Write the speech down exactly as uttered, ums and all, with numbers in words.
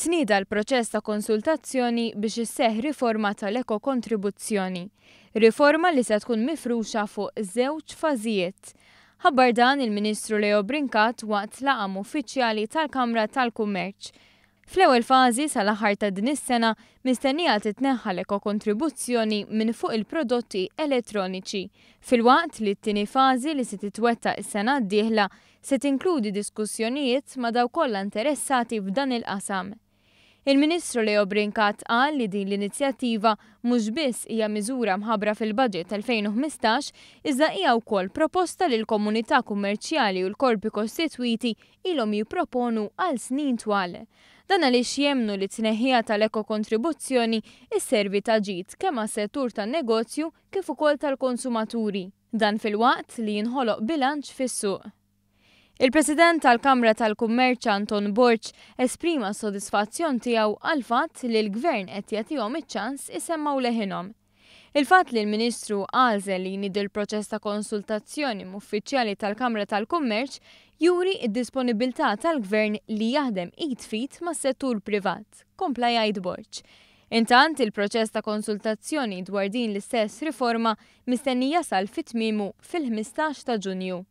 Tnieda l-proċess ta' konsultazzjoni biex isseħħ riforma tal-ekokontribuzzjoni. Riforma li se tkun mifruxa fuq żewġ fażijiet. Ħabbar dan il-Ministru Leo Brincat waqt laqgħa uffiċjali tal-Kamra tal-Kummerċ. Fl-ewwel fażi, sal-aħħar ta' din is-sena, mistennija titneħħa l-ekokontribuzzjoni minn fuq il-prodotti elettroniċi. Filwaqt li t-tieni fażi, li se titwettaq is-sena d-dieħla, se tinkludi diskussjonijiet ma' dawk kollha interessati f'dan il-qasam. Il-Ministru Leo Brincat qal li din l-inizjattiva mhux biss hija miżura mħabbra fil-budget elfejn u ħmistax, iżda hija wkoll proposta li l-komunità kummerċjali u l-korpi kostitwiti ilhom jipproponu għal snin twal. Dan għaliex jemmnu li tneħħija tal-ekokontribuzzjoni isservi ta' ġid kemm għas-settur tan-negozju kif ukoll tal-konsumaturi. Dan filwaqt li jinħoloq bilanċ fis-suq. Il-President tal-Kamra tal-Kummerċ Anton Borg esprima s-sodisfazzjon tiegħu għall-fatt li l-Gvern qed jagħtihom iċ-ċans isemmgħu leħinhom. Il-fatt li l-Ministru għażel li jniedi l-proċess ta' konsultazzjoni uffiċjali tal-Kamra tal-Kummerċ juri id-disponibilità tal-Gvern li jaħdem id f'id mas-settur privat, kompla jgħid Borg. Intant, il-proċess ta' konsultazzjoni dwar din l-istess riforma mistenni jasal fit-tmiemu fil-ħmistax ta' Ġunju.